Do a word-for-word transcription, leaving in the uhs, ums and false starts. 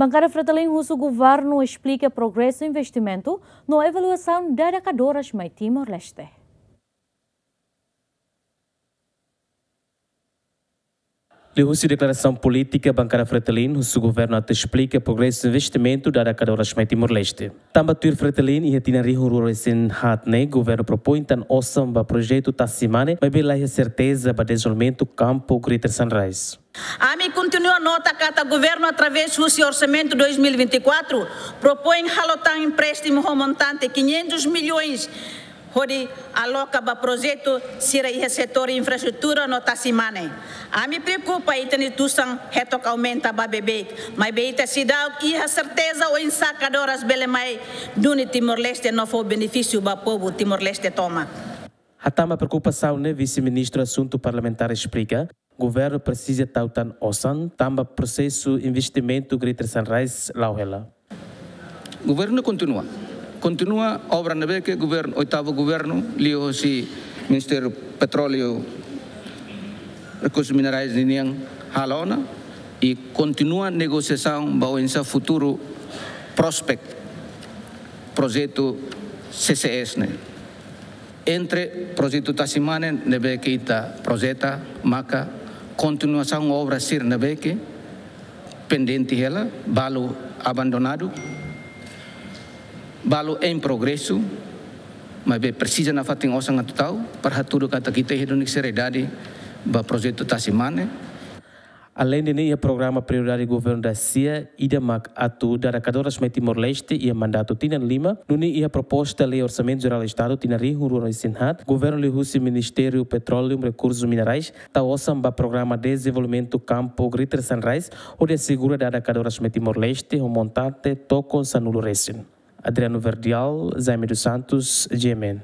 Bankada Fretilin husu governu esplika progresu investimentu no evolusaun dada kadoras mai Timor-Leste. Liuhusi deklarasaun polítika, Bankada Fretilin husu governu atu esplika progresu investimentu dada kadoras mai Timor-Leste. Tanba tuir Fretilin, iha tinan rihun rua resin haat ne'e, governu propoin tan osan ba projetu tasi mane, maibé la iha serteza ba dezenvolvimentu kampu Greater Sunrise. Ami kontinua nota katak governu através husi orsamentu dois mil e vinte e quatro propoin halo tan empréstimu ho montante quinhentos milhões hodi aloka ba projetu sira iha setór infraestrutura no tasi mane. Ami preokupa ita-nia tusan hetok aumenta ba beibeik, maibé ita seidauk iha serteza oinsá kadoras bele mai duni Timor-Leste no fó benefísiu ba povu Timor-Leste tomak. Hatán ba preokupasaun ne'e, Vise-Ministru Asuntu Parlamentár esplika, governu presiza tau tan osan, tanba prosesu investimentu Greater Sunrise la'o hela. Governu kontinua. Kontinua obra ne'ebé ke governu, oitavu governu, liuhusi Ministériu Petróleu, Rekursus Minerais ninian halo ona, i kontinua negosiasaun ba oinsá futuru prospek projetu C C S ne'e. Entre projetu tasi mane ne'ebé ke ita projeta, maka kontinuasaun obra sira ne'ebé ke pendente hela, balu abandonadu, balu em progresu, maibé presiza nafatin osan atu tau, para hatudu katak ita iha duni seriedade ba projetu tasi mane. Aleinde ne'e, iha programa prioridade governu dasia, ida mak atu dada kadoras mai Timor-Leste iha mandatu tinan lima, nune'e iha proposta lei Orsamentu Jerál Estadu tinan rihun rua resin haat, governu liuhusi Ministériu Petróleu Rekursus Minerais tau osan ba programa dezenvolvimentu kampu Greater Sunrise, hodi asegura dada kadoras mai Timor-Leste ho montante tokon sanulu resin. Adriano Verdial, Jaime dos Santos, G M N.